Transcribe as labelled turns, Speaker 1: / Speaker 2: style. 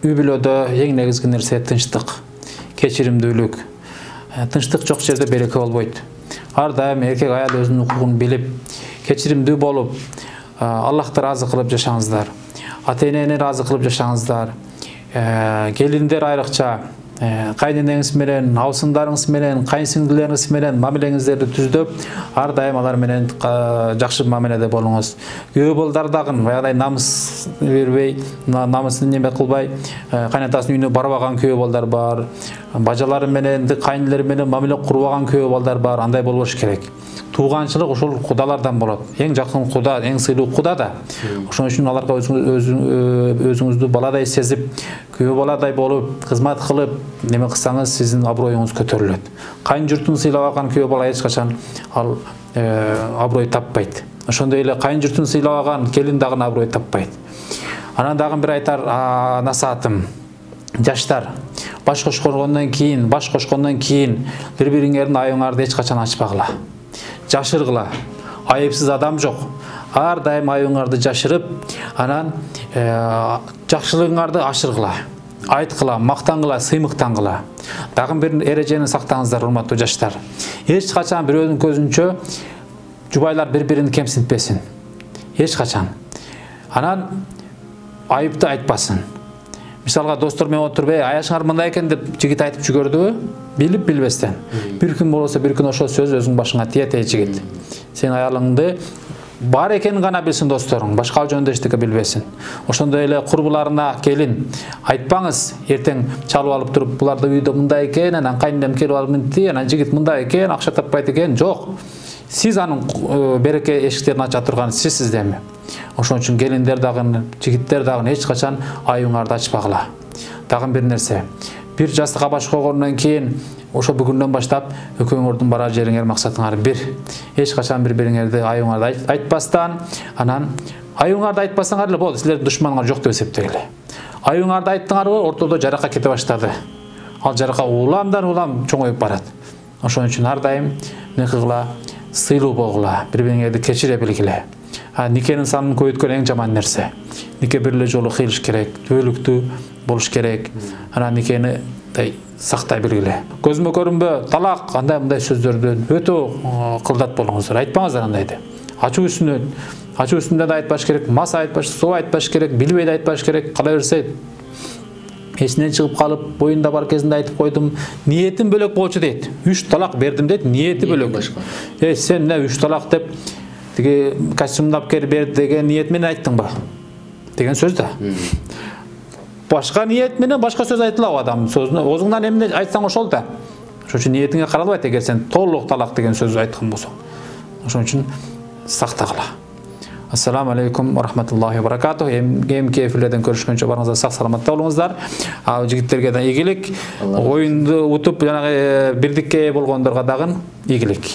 Speaker 1: үй бүлөдө эң негизги нерсе тынчтык, кечиримдүүлүк. Тынчтык жок жерде береке болбойт. Ар дайым эркек аял өзүнүн укугун билип, кечиримдүү болуп, Аллахты ыраазы кылып жашаңыздар. Ата-энени ыраазы кылып жашаңыздар. Келиндер айрыкча кайненеңиз менен, абысындарыңыз менен, кайынсиңдилериңиз менен мамилеңиздерди түздөп, ар дайым алар менен жакшы мамиледе болуңуз. Күйөө балдар дагы баягыдай намыс бербей, намысын неме кылбай, кайнатасынын үйүнө барбаган күйөө балдар бар. Бажалары менен, кайнылары менен мамиле курбаган күйөө балдар бар. Андай болбош керек. Тууганчылык ошол кудалардан болот. Эң жакын куда, эң сыйлуу куда да. Ошон үчүн аларга өзүңүздү баладай сезип, күйөө баладай болуп, кызмат кылып, неме кылсаңыз, сиздин аброюңуз көтөрүлөт. Кайын журтун сыйлабаган күйөө бала эч качан ал аброй таппайт. Ошондой эле кайын журтун сыйлабаган келин дагы аброй таппайт. Анан дагы бир айтар насаатым. Жаштар, баш кошкондон кийин бири-бириңердин аюңарды эч качан ачпагыла. Жашыргыла. Айыпсыз адам жок. Ар дайым аюңарды жашырып, анан жакшылыгыңарды ашыргыла. Айткыла, мактангыла, сыймыктангыла. Дагы бир эрежени сактаңыздар, урматтуу жаштар. Эч качан бирөөнүн көзүнчө жубайлар бири-бирин кемсинтпесин. Эч качан. Анан айыпты айтпасын. Мисалга достор менен отуруп, аяшыңар мындай экен деп жигит айтып жүгөрдүбү? Билип билбестен. Бир күн болсо бир күн ошол сөз өзүң башыңа тиет жигит. Сен аялыңды бар экенин гана билсин досторуң, башка жөнүндө эчтеке билбесин. Ошондой эле курбуларына келин айтпаңыз, эртең чалып алып туруп, буларды үйдө мындай экен, анан кайненем келип алып минти, анан жигит мындай экен, акча таппайт экен. Жок. Сиз анын береке эшиктерин ача турган сизсиз деми. Ошон үчүн келиндер дагы, жигиттер дагы эч качан аюңарды ачпагыла. Дагы бир нерсе. Бир жастыкка баш койгондон кийин ошо бүгүндөн баштап экөөңөрдүн барар жериңер максатыңар бир. Эч качан бири-бириңерди аюңарды айтпастан, анан аюңарды айтпасаңар эле болду, силердин душманыңар жок деп эсептегиле. Аюңарды айттыңарбы, ортодо жарака кете баштады. Ал жарака уламдан улам чоңоюп барат. Ошон үчүн ар дайым эмне кылгыла, сыйлуу болгула, бири-бириңерди кечире билгиле. Никенин санын көбөйткөн эң жаман нерсе. Нике бир эле жолу кыйылыш керек, түбөлүктүү болуш керек. Анан никени сактай билгиле. Көзүмө көрүнбө, талак, андай-мындай сөздөрдөн өтө кылдат болуңуздар. Айтпаңыздар андайды. Ачуу үстүндө да айтпаш керек, мас айтпаш, соо айтпаш керек, билбей да айтпаш керек. Кала берсе эсинен чыгып калып, боюнда бар кезинде айтып койдум, ниетим бөлөк болчу дейт. 3 талак бердим дейт, ниети бөлөк. Сен эмне 3 талак деп тиги костюмдап келип берди деген ниет менен айттыңбы? Деген сөз да. Башка ниет менен башка сөз айтылабы адам сөзүнө? Өзүңдөн эмне айтсаң ошол да. Ошон үчүн ниетиңе каралбайт эгер сен толук талак деген сөз айткан болсоң. Ошон үчүн сактагыла. Ассаламу алейкум ва рахматуллахи ва баракатух. Эмки эфирлерден көрүшкөнчө барыңыздар сак саламатта болуңуздар. Жигиттерге да ийгилик, оюнду утуп жанагы бирдикке болгондорго дагы ийгилик.